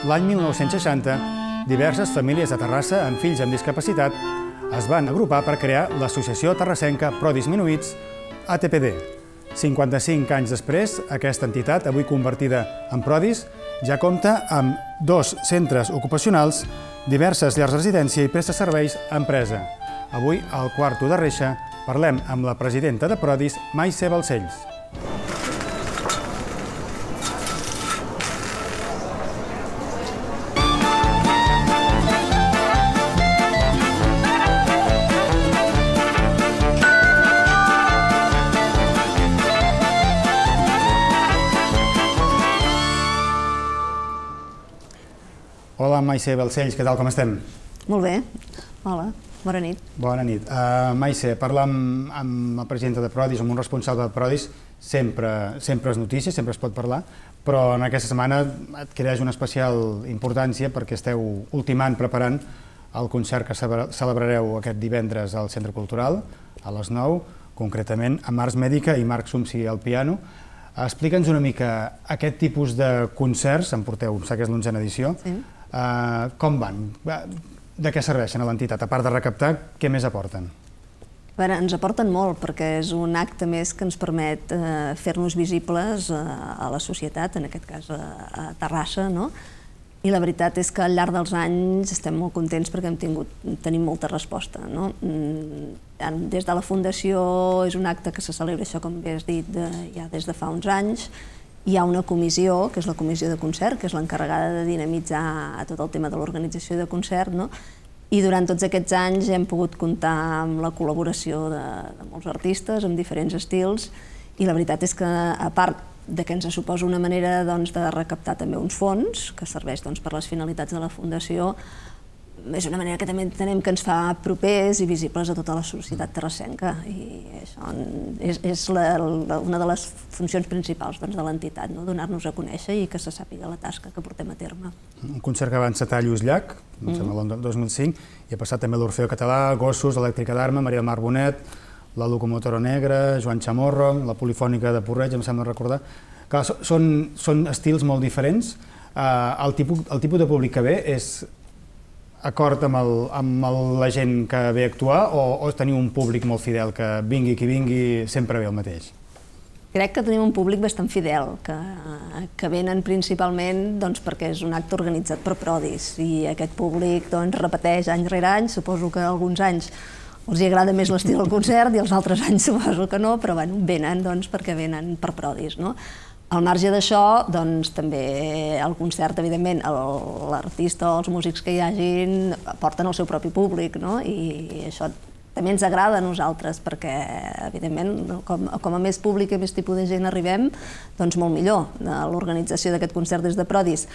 L'any 1960, diverses famílies de Terrassa amb fills amb discapacitat es van agrupar per crear l'Associació Terrassenca Prodisminuïts, ATPD. 55 anys després, aquesta entitat, avui convertida en Prodis, ja compta amb 2 centres ocupacionals, diverses llars de residència i presta serveis a empresa. Avui, al Quarto de Reixa, parlem amb la presidenta de Prodis, Maise Balcells. Hola, Maise Balcells, què tal, com estem? Molt bé. Hola, bona nit. Bona nit. Maise, parlar amb la presidenta de Prodis, amb un responsable de Prodis, sempre és notícia, sempre es pot parlar, però en aquesta setmana adquireix una especial importància perquè esteu ultimant, preparant el concert que celebrareu aquest divendres al Centre Cultural, a les 9, concretament amb Ars Mèdica i Marc Sumsi al piano. Explica'ns una mica aquest tipus de concerts, en porteu, em sap que és l'11a edició, com van? De què serveixen a l'entitat? A part de recaptar, què més aporten? Ens aporten molt, perquè és un acte més que ens permet fer-nos visibles a la societat, en aquest cas a Terrassa, i la veritat és que al llarg dels anys estem molt contents perquè tenim molta resposta. Des de la Fundació és un acte que se celebra, això com bé has dit, ja des de fa uns anys. Hi ha una comissió, que és la comissió de concert, que és l'encarregada de dinamitzar tot el tema de l'organització de concert, i durant tots aquests anys hem pogut comptar amb la col·laboració de molts artistes, amb diferents estils, i la veritat és que, a part de que ens suposa una manera de recaptar també uns fons, que serveix per les finalitats de la Fundació, és una manera que també entenem que ens fa propers i visibles a tota la societat terrassenca, i això és una de les funcions principals de l'entitat, donar-nos a conèixer i que se sàpiga la tasca que portem a terme. Un concert que va encetar Lluís Llach, em sembla l'any 2005, i ha passat també l'Orfeó Català, Gossos, Elèctrica d'Arma, Maria del Mar Bonet, la Locomotora Negra, Joan Chamorro, la Polifònica de Porreig, em sembla recordar. Clar, són estils molt diferents. El tipus de públic que ve és acord amb la gent que ve a actuar o teniu un públic molt fidel que vingui qui vingui sempre ve el mateix? Crec que tenim un públic bastant fidel, que venen principalment perquè és un acte organitzat per Prodis i aquest públic repeteix any rere any. Suposo que alguns anys els agrada més l'estil del concert i els altres anys suposo que no, però venen perquè venen per Prodis. Al marge d'això, també el concert, evidentment, l'artista o els músics que hi hagin porten el seu propi públic, i això també ens agrada a nosaltres, perquè, evidentment, com a més públic i més tipus de gent arribem, doncs molt millor. L'organització d'aquest concert des de Prodis,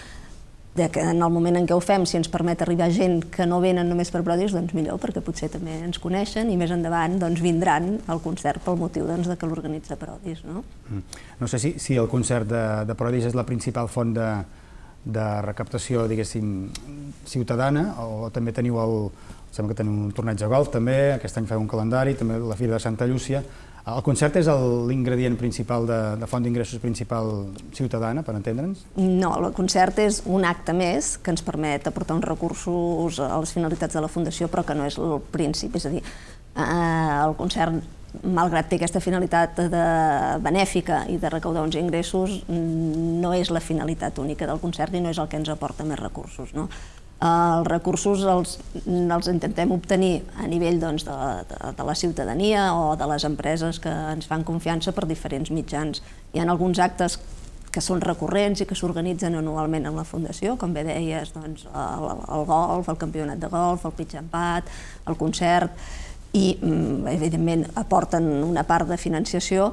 en el moment en què ho fem, si ens permet arribar gent que no venen només per Prodis, doncs millor, perquè potser també ens coneixen i més endavant vindran al concert pel motiu que l'organitza Prodis. No sé si el concert de Prodis és la principal font de recaptació, diguéssim, ciutadana, o també teniu sembla que teniu un torneig de golf també, aquest any feu un calendari, també la Fira de Santa Llúcia. El concert és l'ingredient principal de font d'ingressos principal ciutadana, per entendre'ns? No, el concert és un acte més que ens permet aportar uns recursos a les finalitats de la Fundació, però que no és el principi. És a dir, el concert, malgrat té aquesta finalitat benèfica i de recaudar uns ingressos, no és la finalitat única del concert i no és el que ens aporta més recursos. Els recursos els intentem obtenir a nivell de la ciutadania o de les empreses que ens fan confiança per diferents mitjans. Hi ha alguns actes que són recurrents i que s'organitzen anualment en la Fundació, com bé deies, el golf, el campionat de golf, el pitch and putt, el concert, i evidentment aporten una part de financiació,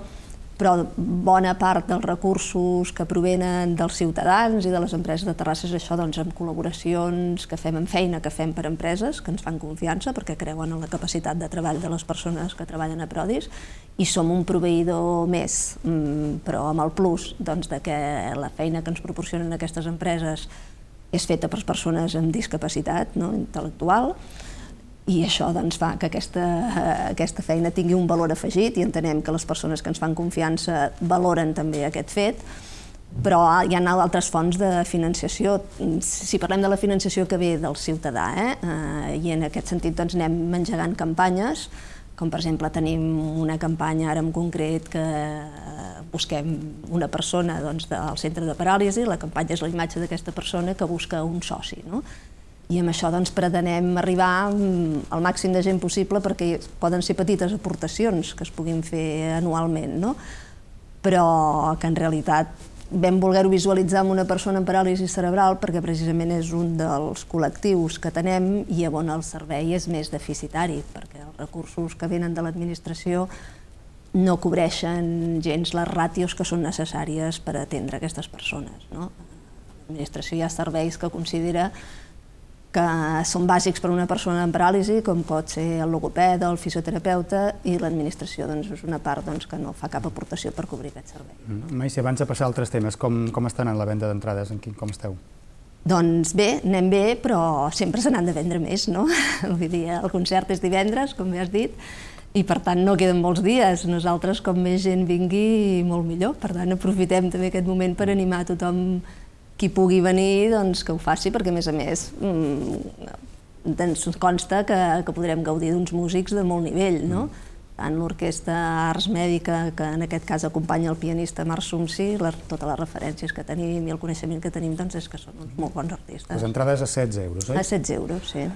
però bona part dels recursos que provenen dels ciutadans i de les empreses de Terrassa és això, amb col·laboracions que fem, amb feina que fem per empreses que ens fan confiança perquè creuen en la capacitat de treball de les persones que treballen a Prodis, i som un proveïdor més, però amb el plus que la feina que ens proporcionen aquestes empreses és feta per persones amb discapacitat intel·lectual, i això fa que aquesta feina tingui un valor afegit i entenem que les persones que ens fan confiança valoren també aquest fet. Però hi ha altres fonts de financiació. Si parlem de la financiació que ve del ciutadà, i en aquest sentit anem engegant campanyes, com per exemple tenim una campanya ara en concret que busquem una persona del centre de paràlisi, la campanya és la imatge d'aquesta persona que busca un soci. I amb això pretenem arribar al màxim de gent possible perquè poden ser petites aportacions que es puguin fer anualment, però que en realitat vam voler-ho visualitzar amb una persona amb paràlisi cerebral perquè precisament és un dels col·lectius que tenem i on el servei és més deficitari, perquè els recursos que venen de l'administració no cobreixen gens les ràtios que són necessàries per atendre aquestes persones. L'administració hi ha serveis que considera que són bàsics per a una persona amb paràlisi, com pot ser el logopeda o el fisioterapeuta, i l'administració és una part que no fa cap aportació per cobrir aquest servei. Maïssa, abans de passar a altres temes, com està anant la venda d'entrades? Com esteu? Doncs bé, anem bé, però sempre se n'han de vendre més, no? Vull dir, el concert és divendres, com bé has dit, i per tant no queden molts dies. Nosaltres, com més gent vingui, molt millor. Per tant, aprofitem també aquest moment per animar tothom qui pugui venir, que ho faci, perquè a més ens consta que podrem gaudir d'uns músics de molt nivell, tant l'Orquestra Ars Mèdica, que en aquest cas acompanya el pianista Marc Sumsi, totes les referències que tenim i el coneixement que tenim és que són uns molt bons artistes. Les entrades a 16 euros, oi? A 16 euros, sí.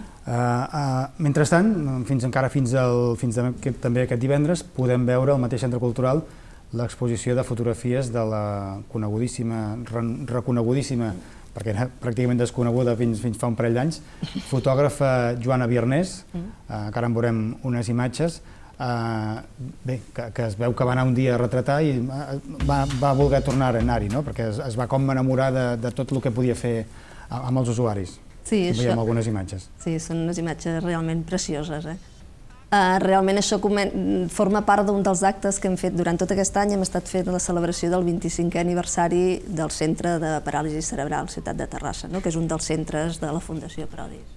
Mentrestant, fins també aquest divendres, podem veure al mateix centre cultural l'exposició de fotografies de la reconegudíssima, perquè era pràcticament desconeguda fins fa un parell d'anys, fotògrafa Joana Biernès, que ara en veurem unes imatges, que es veu que va anar un dia a retratar i va voler tornar a anar-hi, perquè es va com enamorar de tot el que podia fer amb els usuaris. Sí, veiem algunes imatges. Sí, són unes imatges realment precioses. Realment això forma part d'un dels actes que hem fet durant tot aquest any. Hem estat fent la celebració del 25è aniversari del Centre de Paràlisi Cerebral Ciutat de Terrassa, que és un dels centres de la Fundació Prodis.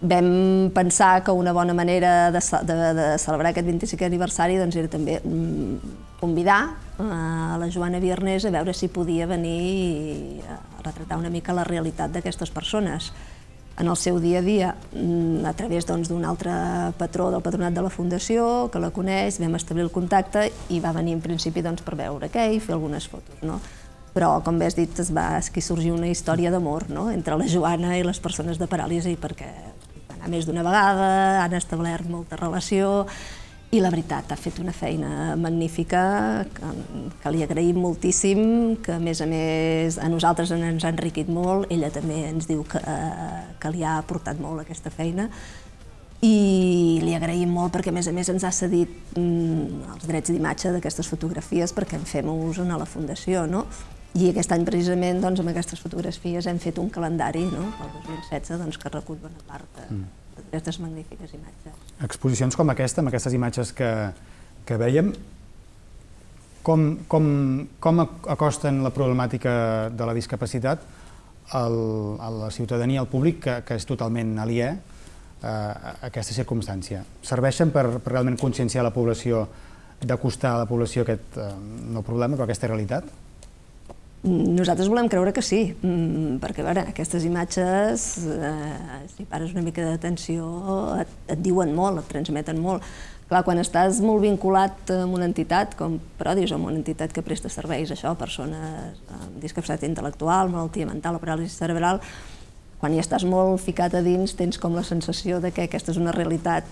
Vam pensar que una bona manera de celebrar aquest 25è aniversari era també convidar a la Joana Biernès a veure si podia venir a retratar una mica la realitat d'aquestes persones en el seu dia a dia, a través d'un altre patró del patronat de la Fundació, que la coneix, vam establir el contacte i va venir en principi per veure què i fer algunes fotos. Però, com bé has dit, va sorgir una història d'amor entre la Joana i les persones de paràlisi, perquè va anar més d'una vegada, han establert molta relació i la veritat ha fet una feina magnífica que li agraïm moltíssim, que a més a nosaltres ens ha enriquit molt, ella també ens diu que li ha aportat molt aquesta feina i li agraïm molt perquè a més ens ha cedit els drets d'imatge d'aquestes fotografies perquè en fem ús a la Fundació. I aquest any precisament amb aquestes fotografies hem fet un calendari pel 2016 que recull bona part d'aquestes magnífiques imatges. Exposicions com aquesta, amb aquestes imatges que vèiem, com acosten la problemàtica de la discapacitat a la ciutadania, al públic, que és totalment aliè a aquesta circumstància? Serveixen per realment conscienciar la població, d'acostar a la població aquest no problema, però aquesta realitat? Nosaltres volem creure que sí, perquè aquestes imatges, si pares una mica d'atenció, et diuen molt, et transmeten molt. Clar, quan estàs molt vinculat amb una entitat com Prodis, o amb una entitat que presta serveis a persones amb discapacitat intel·lectual, malaltia mental o paràlisi cerebral, quan hi estàs molt ficat a dins tens com la sensació que aquesta és una realitat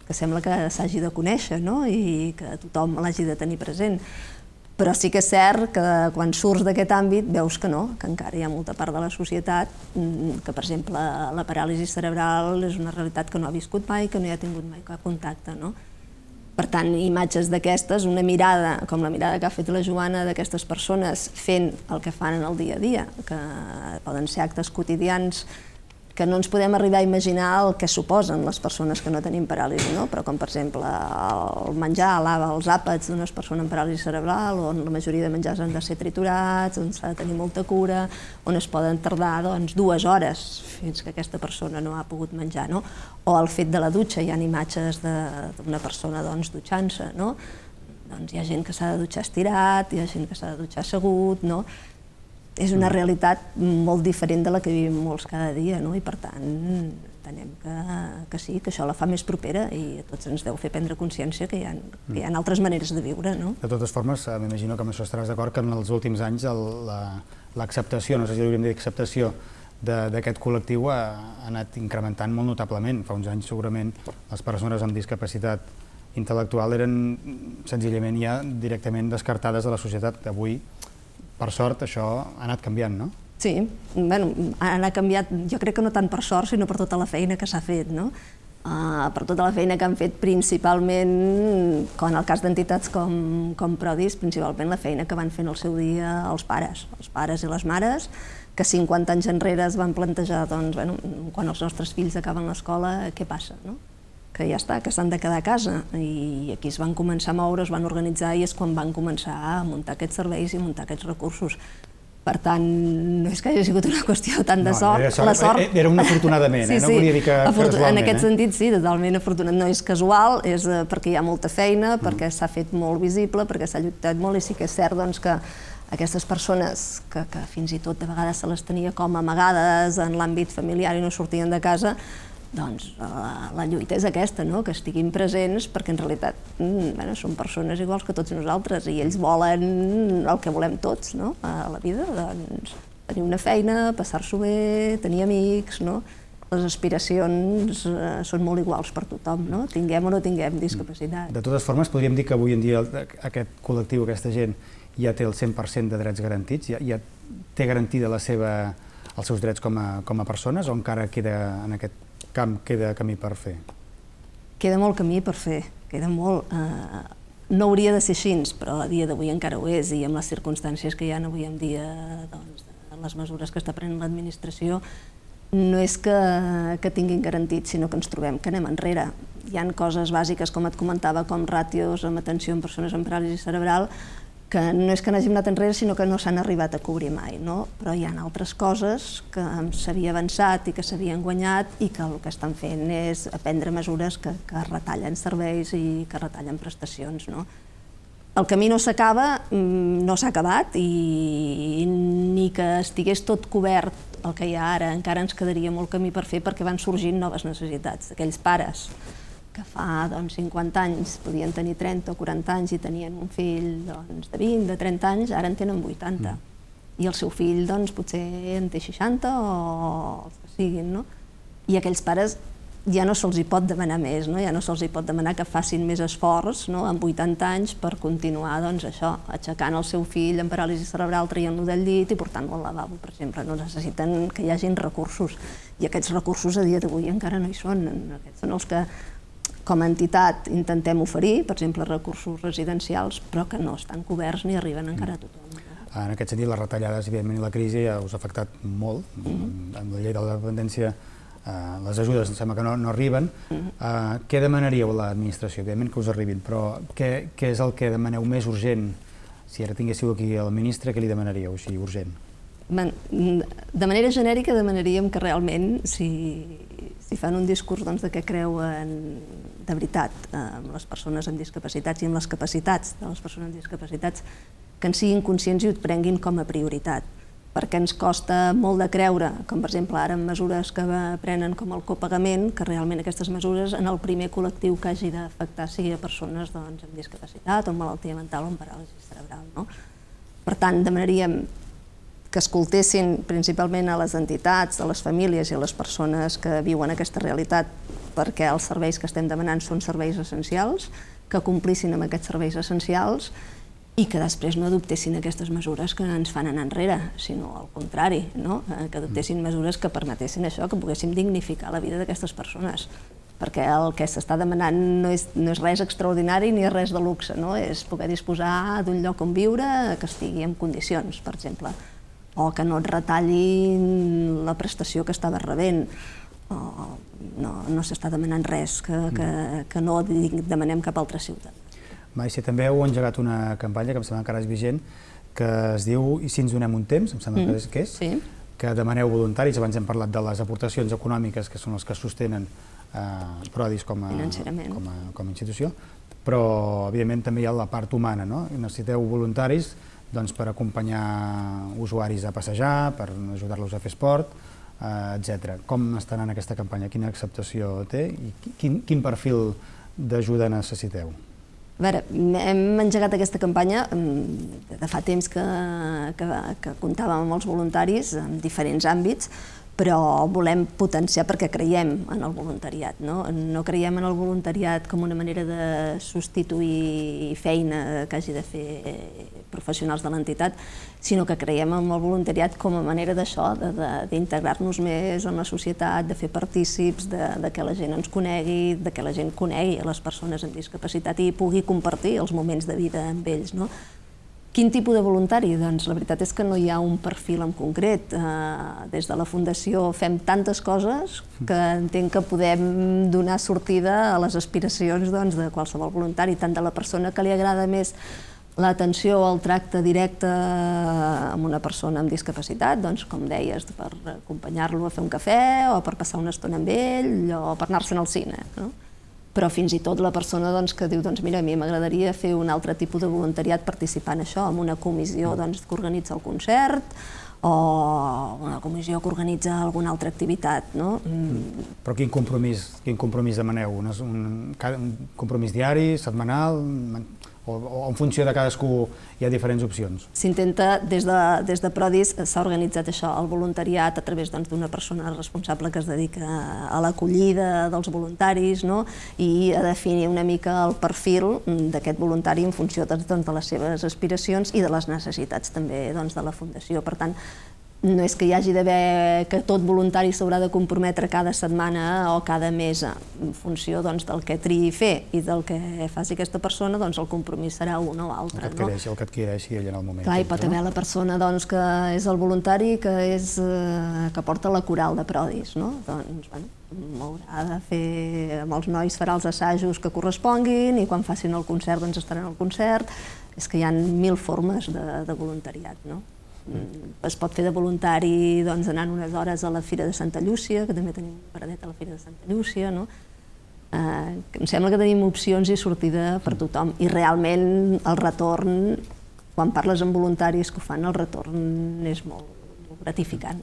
que sembla que s'hagi de conèixer i que tothom l'hagi de tenir present. Però sí que és cert que quan surts d'aquest àmbit veus que no, que encara hi ha molta part de la societat que, per exemple, la paràlisi cerebral és una realitat que no ha viscut mai, que no hi ha tingut mai cap contacte. Per tant, imatges d'aquestes, una mirada, com la mirada que ha fet la Joana d'aquestes persones fent el que fan en el dia a dia, que poden ser actes quotidians que no ens podem arribar a imaginar el que suposen les persones que no tenim paràlisi, però com per exemple el menjar, els àpats d'una persona amb paràlisi cerebral, on la majoria de menjars han de ser triturats, on s'ha de tenir molta cura, on es poden tardar 2 hores fins que aquesta persona no ha pogut menjar, o el fet de la dutxa, hi ha imatges d'una persona dutxant-se, doncs hi ha gent que s'ha de dutxar estirat, hi ha gent que s'ha de dutxar assegut, no? És una realitat molt diferent de la que vivim molts cada dia, no? I per tant, entenem que sí, que això la fa més propera i a tots ens deu fer prendre consciència que hi ha altres maneres de viure, no? De totes formes, m'imagino que amb això estaràs d'acord que en els últims anys l'acceptació, no sé si hauríem de dir acceptació, d'aquest col·lectiu ha anat incrementant molt notablement. Fa uns anys segurament les persones amb discapacitat intel·lectual eren senzillament ja directament descartades de la societat. Avui, per sort, això ha anat canviant, no? Sí, bueno, ha anat canviat, jo crec que no tant per sort, sinó per tota la feina que s'ha fet, no? Per tota la feina que han fet principalment, en el cas d'entitats com Prodis, principalment la feina que van fer en el seu dia els pares i les mares, que 50 anys enrere es van plantejar, doncs, bueno, quan els nostres fills acaben l'escola, què passa, no? Que ja està, que s'han de quedar a casa, i aquí es van començar a moure, es van organitzar i és quan van començar a muntar aquests serveis i muntar aquests recursos. Per tant, no és que hagi sigut una qüestió tant de sort. La sort era un afortunadament, no volia dir que casualment. En aquest sentit, sí, totalment afortunat. No és casual, és perquè hi ha molta feina, perquè s'ha fet molt visible, perquè s'ha lluitat molt, i sí que és cert que aquestes persones que fins i tot de vegades se les tenia com amagades en l'àmbit familiar i no sortien de casa, doncs la lluita és aquesta, que estiguin presents, perquè en realitat són persones iguals que tots nosaltres i ells volen el que volem tots a la vida, doncs tenir una feina, passar-s'ho bé, tenir amics, les aspiracions són molt iguals per tothom, tinguem o no tinguem discapacitat. De totes formes, podríem dir que avui en dia aquest col·lectiu, aquesta gent, ja té el 100% de drets garantits, ja té garantida els seus drets com a persones, o encara queda en aquest camp camí per fer? Queda molt camí per fer, queda molt. No hauria de ser així, però a dia d'avui encara ho és, i amb les circumstàncies que hi ha avui en dia, les mesures que està prenent l'administració, no és que tinguin garantit, sinó que ens trobem que anem enrere. Hi ha coses bàsiques, com et comentava, com ràtios amb atenció en persones amb paràlisi cerebral, que no és que n'hàgim anat enrere, sinó que no s'han arribat a cobrir mai, però hi ha altres coses que s'havia avançat i que s'havien guanyat i que el que estan fent és prendre mesures que retallen serveis i que retallen prestacions. El camí no s'acaba, no s'ha acabat, i ni que estigués tot cobert el que hi ha ara, encara ens quedaria molt camí per fer, perquè van sorgint noves necessitats. Aquells pares que fa 50 anys podien tenir 30 o 40 anys i tenien un fill de 20, de 30 anys, ara en tenen 80. I el seu fill potser en té 60 o els que siguin. I aquells pares ja no se'ls hi pot demanar més, ja no se'ls hi pot demanar que facin més esforç amb 80 anys per continuar aixecant el seu fill amb paràlisi cerebral, traient-lo del llit i portant-lo al lavabo, per exemple. No necessiten que hi hagin recursos, i aquests recursos a dia d'avui encara no hi són. Aquests són els que com a entitat intentem oferir, per exemple, recursos residencials, però que no estan coberts ni arriben encara a tothom. En aquest sentit, les retallades, evidentment, i la crisi ja us ha afectat molt. Amb la llei de la dependència, les ajudes em sembla que no arriben. Què demanaríeu a l'administració? Evidentment que us arribin, però què és el que demaneu més urgent? Si ara tinguéssiu aquí el ministre, què li demanaríeu així urgent? De manera genèrica demanaríem que realment, si fan un discurs de què creuen de veritat amb les persones amb discapacitats i amb les capacitats de les persones amb discapacitats, que en siguin conscients i ho prenguin com a prioritat, perquè ens costa molt de creure, com per exemple ara amb mesures que prenen com el copagament, que realment aquestes mesures en el primer col·lectiu que hagi d'afectar sigui a persones amb discapacitat o amb malaltia mental o amb paràlisi cerebral. Per tant, demanaríem que escoltessin principalment a les entitats, a les famílies i a les persones que viuen aquesta realitat, perquè els serveis que estem demanant són serveis essencials, que complissin amb aquests serveis essencials i que després no adoptessin aquestes mesures que ens fan anar enrere, sinó al contrari, que adoptessin mesures que permetessin això, que poguéssim dignificar la vida d'aquestes persones. Perquè el que s'està demanant no és res extraordinari ni és res de luxe, és poder disposar d'un lloc on viure que estigui en condicions, per exemple, o que no et retallin la prestació que estaves rebent. No s'està demanant res que no demanem cap altra ciutat. Maïssa, també heu engegat una campanya que em sembla que encara és vigent, que es diu I si ens donem un temps, em sembla que és, que demaneu voluntaris. Abans hem parlat de les aportacions econòmiques, que són les que sostenen Prodis com a institució, però evidentment també hi ha la part humana, no? Necessiteu voluntaris per acompanyar usuaris a passejar, per ajudar-los a fer esport, etc. Com està anant aquesta campanya? Quina acceptació té i quin perfil d'ajuda necessiteu? A veure, hem engegat aquesta campanya de fa temps que comptàvem amb els voluntaris en diferents àmbits, però volem potenciar perquè creiem en el voluntariat. No creiem en el voluntariat com una manera de substituir feina que hagi de fer professionals de l'entitat, sinó que creiem en el voluntariat com a manera d'això, d'integrar-nos més en la societat, de fer partícips, de que la gent ens conegui, de que la gent conegui a les persones amb discapacitat i pugui compartir els moments de vida amb ells. Quin tipus de voluntari? Doncs la veritat és que no hi ha un perfil en concret. Des de la Fundació fem tantes coses que entenc que podem donar sortida a les aspiracions de qualsevol voluntari, tant de la persona que li agrada més l'atenció o el tracte directe amb una persona amb discapacitat, com deies, per acompanyar-lo a fer un cafè o per passar una estona amb ell o per anar-se'n al cine. Però fins i tot la persona que diu mira, a mi m'agradaria fer un altre tipus de voluntariat participant en això, en una comissió que organitza el concert o una comissió que organitza alguna altra activitat. Però quin compromís demaneu? Un compromís diari, setmanal, o en funció de cadascú hi ha diferents opcions? S'intenta, des de Prodis s'ha organitzat això, el voluntariat a través d'una persona responsable que es dedica a l'acollida dels voluntaris i a definir una mica el perfil d'aquest voluntari en funció de les seves aspiracions i de les necessitats també de la Fundació. Per tant, no és que hi hagi d'haver que tot voluntari s'haurà de comprometre cada setmana o cada mes en funció del que triï fer i del que faci aquesta persona, el compromís serà un o altre. El que adquireixi ell en el moment. Clar, hi pot haver la persona que és el voluntari que porta la coral de Prodis, haurà de fer, amb els nois farà els assajos que corresponguin i quan facin el concert estaran al concert. És que hi ha 1000 formes de voluntariat. Es pot fer de voluntari anant unes hores a la Fira de Santa Llúcia, que també tenim un paradet a la Fira de Santa Llúcia. Em sembla que tenim opcions i sortida per tothom. I realment el retorn, quan parles amb voluntaris que ho fan, el retorn és molt gratificant.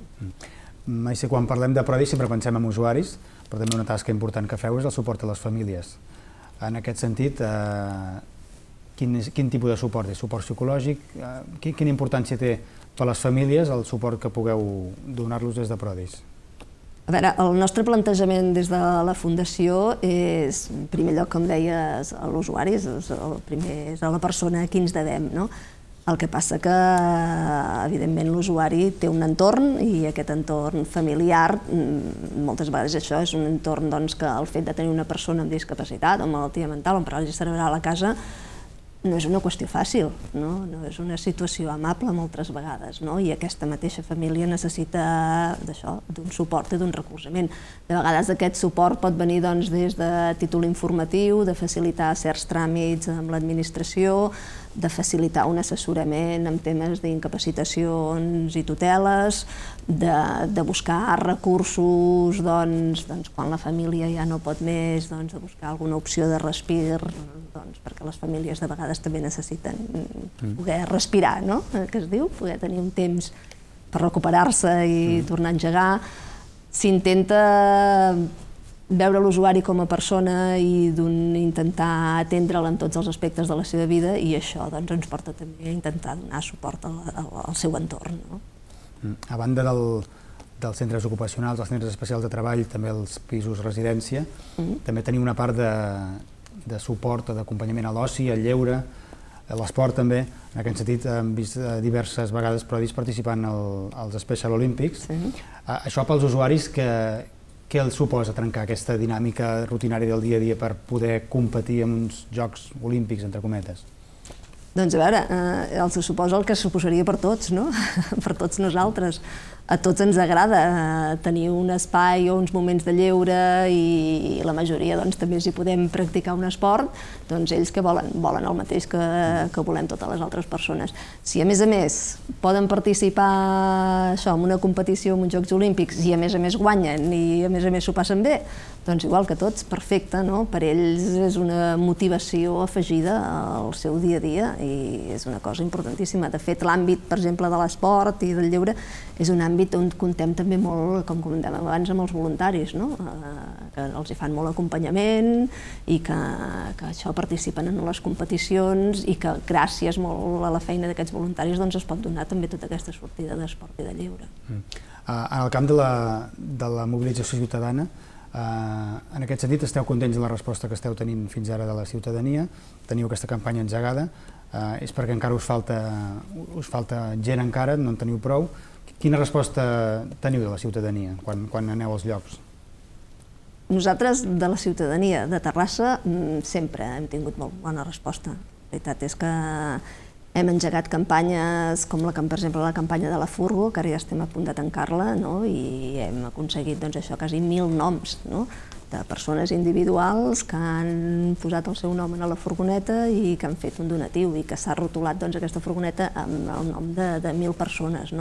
Maite, quan parlem de Prodis sempre pensem en usuaris, però també una tasca important que feu és el suport a les famílies. En aquest sentit, quin tipus de suport és? Suport psicològic? Quina importància té per a les famílies el suport que pugueu donar-los des de Prodis? A veure, el nostre plantejament des de la Fundació és, en primer lloc, com deies, a l'usuari, el primer és a la persona a qui ens devem. El que passa que, evidentment, l'usuari té un entorn i aquest entorn familiar, moltes vegades això és un entorn que el fet de tenir una persona amb discapacitat o malaltia mental o amb paràlisi cerebral a casa no és una qüestió fàcil, no és una situació amable moltes vegades, i aquesta mateixa família necessita d'un suport i d'un recolzament. De vegades aquest suport pot venir des de títol informatiu, de facilitar certs tràmits amb l'administració, de facilitar un assessorament en temes d'incapacitacions i tuteles, de buscar recursos quan la família ja no pot més, de buscar alguna opció de respir, perquè les famílies de vegades també necessiten poder respirar, que es diu, poder tenir un temps per recuperar-se i tornar a engegar. S'intenta veure l'usuari com a persona i intentar atendre'l en tots els aspectes de la seva vida i això ens porta també a intentar donar suport al seu entorn. A banda dels centres ocupacionals, els centres especials de treball, també els pisos residència, també teniu una part de suport o d'acompanyament a l'oci, al lleure, a l'esport també. En aquest sentit hem vist diverses vegades Prodis participant als Special Olympics. Això pels usuaris, què els suposa trencar aquesta dinàmica rutinària del dia a dia per poder competir en uns Jocs Olímpics, entre cometes? Doncs a veure, els suposa el que suposaria per tots, per tots nosaltres. a tots ens agrada tenir un espai o uns moments de lleure i la majoria també si podem practicar un esport, doncs ells que volen el mateix que volem totes les altres persones. Si a més poden participar en una competició, en uns Jocs Olímpics i a més guanyen i a més s'ho passen bé, doncs igual que tots, perfecte, no? Per ells és una motivació afegida al seu dia a dia i és una cosa importantíssima. De fet, l'àmbit, per exemple, de l'esport i del lleure és un àmbit on comptem també molt, com comentàvem abans, amb els voluntaris, que els hi fan molt acompanyament i que això participen en les competicions i que gràcies molt a la feina d'aquests voluntaris es pot donar també tota aquesta sortida d'esport i de lleure. En el camp de la mobilització ciutadana, en aquest sentit, esteu contents de la resposta que esteu tenint fins ara de la ciutadania? Teniu aquesta campanya engegada? És perquè encara us falta gent encara, no en teniu prou? Quina resposta teniu de la ciutadania quan aneu als llocs? Nosaltres, de la ciutadania de Terrassa, sempre hem tingut molt bona resposta. La veritat és que hem engegat campanyes com, per exemple, la campanya de la Furgo, que ara ja estem a punt de tancar-la, i hem aconseguit quasi 1.000 noms de persones individuals que han posat el seu nom a la furgoneta i que han fet un donatiu i que s'ha rotulat aquesta furgoneta amb el nom de 1.000 persones.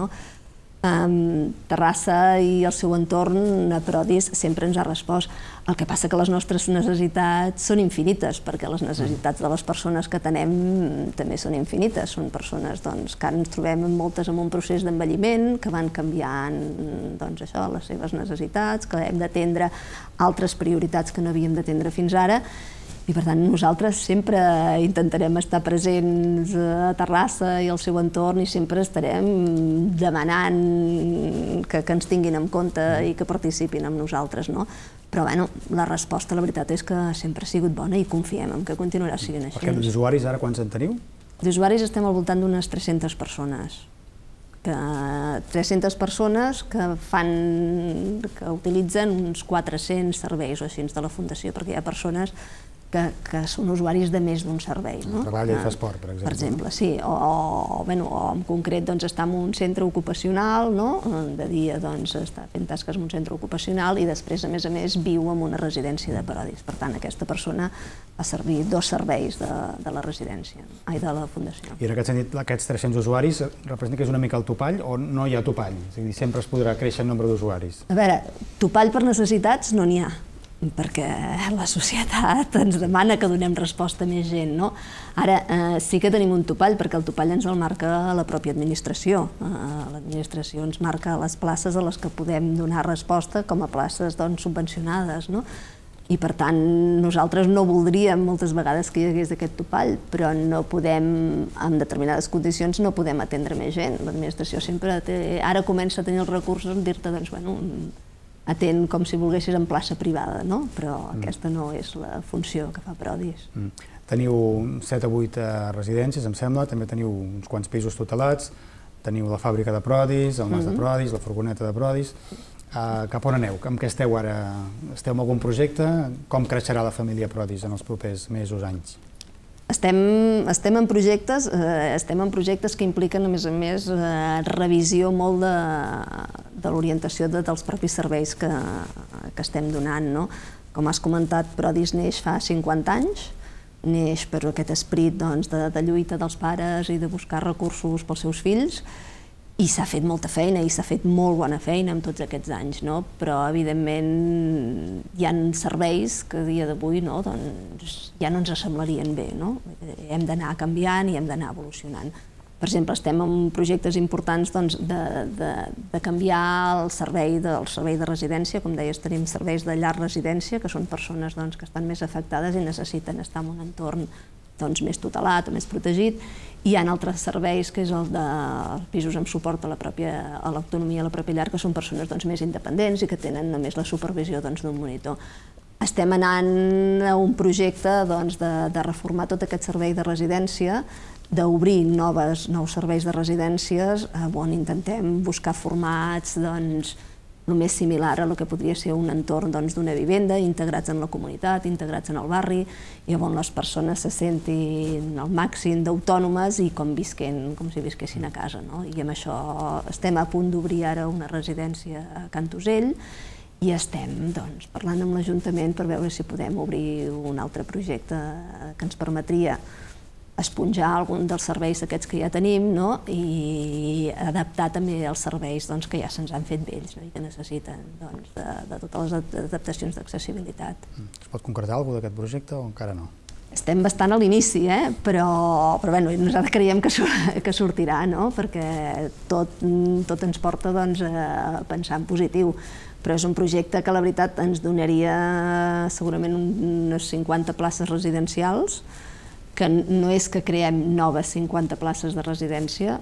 Terrassa i el seu entorn a Prodis sempre ens ha respost. El que passa que les nostres necessitats són infinites, perquè les necessitats de les persones que tenem també són infinites. Són persones que ara ens trobem moltes en un procés d'envelliment, que van canviant les seves necessitats, que hem d'atendre altres prioritats que no havíem d'atendre fins ara. I per tant nosaltres sempre intentarem estar presents a Terrassa i al seu entorn i sempre estarem demanant que ens tinguin en compte i que participin amb nosaltres. Però la resposta, la veritat és que sempre ha sigut bona i confiem en que continuarà sent així. Perquè d'usuaris ara quants en teniu? D'usuaris estem al voltant d'unes 300 persones. 300 persones que utilitzen uns 400 serveis o així de la Fundació, perquè hi ha persones que són usuaris de més d'un servei. Treballa i fa esport, per exemple. Per exemple, sí. O en concret està en un centre ocupacional, de dia està fent tasques en un centre ocupacional i després, a més, viu en una residència de Prodis. Per tant, aquesta persona va servir 2 serveis de la residència, de la Fundació. I en aquest sentit, aquests 300 usuaris representa que és una mica el topall o no hi ha topall? És a dir, sempre es podrà créixer el nombre d'usuaris. A veure, topall per necessitats no n'hi ha, perquè la societat ens demana que donem resposta a més gent. Ara sí que tenim un topall, perquè el topall ens el marca la pròpia administració. L'administració ens marca les places a les que podem donar resposta com a places subvencionades. I per tant nosaltres no voldríem moltes vegades que hi hagués aquest topall, però no podem, en determinades condicions, no podem atendre més gent. L'administració sempre ara comença a tenir els recursos en dir-te, atén com si volguessis en plaça privada, però aquesta no és la funció que fa Prodis. Teniu 7 o 8 residències, em sembla, també teniu uns quants pisos tutelats, teniu la fàbrica de Prodis, el mas de Prodis, la furgoneta de Prodis. Cap on aneu? Amb què esteu ara? Esteu en algun projecte? Com creixerà la família Prodis en els propers mesos, anys? Estem en projectes que impliquen, a més, revisió molt de l'orientació dels propis serveis que estem donant. Com has comentat, Prodis neix fa 50 anys, neix per aquest esperit de lluita dels pares i de buscar recursos pels seus fills, i s'ha fet molta feina i s'ha fet molt bona feina en tots aquests anys, però evidentment hi ha serveis que a dia d'avui ja no ens semblarien bé. Hem d'anar canviant i hem d'anar evolucionant. Per exemple, estem en projectes importants de canviar el servei de residència. Com deies, tenim serveis de llar residència, que són persones que estan més afectades i necessiten estar en un entorn més tutelat o més protegit. Hi ha altres serveis, que és el de pisos amb suport a l'autonomia a la pròpia llar, que són persones més independents i que tenen només la supervisió d'un monitor. Estem anant a un projecte de reformar tot aquest servei de residència, d'obrir nous serveis de residències on intentem buscar formats el més similar a el que podria ser un entorn d'una vivenda, integrats en la comunitat, integrats en el barri, i on les persones se sentin al màxim d'autònomes i com si visquessin a casa. I amb això estem a punt d'obrir ara una residència a Cantosell i estem parlant amb l'Ajuntament per veure si podem obrir un altre projecte que ens permetria esponjar algun dels serveis aquests que ja tenim i adaptar també els serveis que ja se'ns han fet vells i que necessiten de totes les adaptacions d'accessibilitat. Es pot concretar alguna cosa d'aquest projecte o encara no? Estem bastant a l'inici, però nosaltres creiem que sortirà, perquè tot ens porta a pensar en positiu. Però és un projecte que la veritat ens donaria segurament unes 50 places residencials, que no és que creem noves 50 places de residència,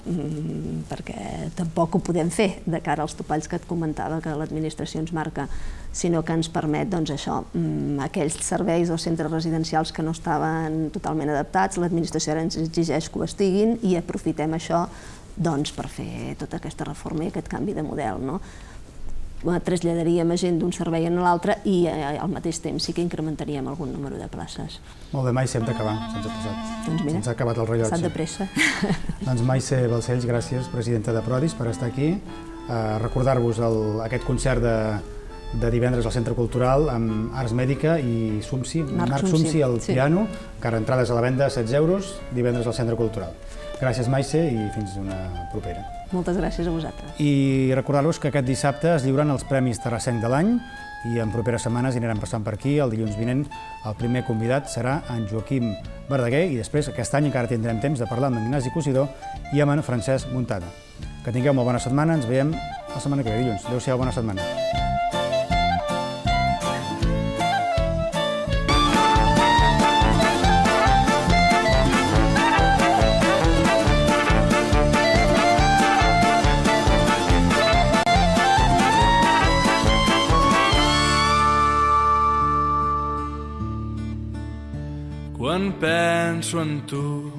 perquè tampoc ho podem fer de cara als topalls que et comentava que l'administració ens marca, sinó que ens permet aquells serveis o centres residencials que no estaven totalment adaptats, l'administració ara ens exigeix que ho estiguin i aprofitem això per fer tota aquesta reforma i aquest canvi de model. Traslladaríem a gent d'un servei a l'altre i al mateix temps sí que incrementaríem algun número de places. Molt bé, Maise, hem d'acabar, se'ns ha acabat el rellotge. S'ha de pressa. Doncs Maise Balcells, gràcies, presidenta de Prodis, per estar aquí. Recordar-vos aquest concert de divendres al Centre Cultural amb Ars Mèdica i Marc Sumsi al piano, encara entrades a la venda a 16 euros, divendres al Centre Cultural. Gràcies, Maise, i fins una propera. Moltes gràcies a vosaltres. I recordar-vos que aquest dissabte es lliuren els Premis Terrassenc de l'any i en properes setmanes anirem passant per aquí. El dilluns vinent el primer convidat serà en Joaquim Verdaguer i després aquest any encara tindrem temps de parlar amb en Ignasi Cosidó i amb en Francesc Muntada. Que tingueu molt bona setmana, ens veiem la setmana que ve, dilluns. Adéu-siau, bona setmana. Quan penso en tu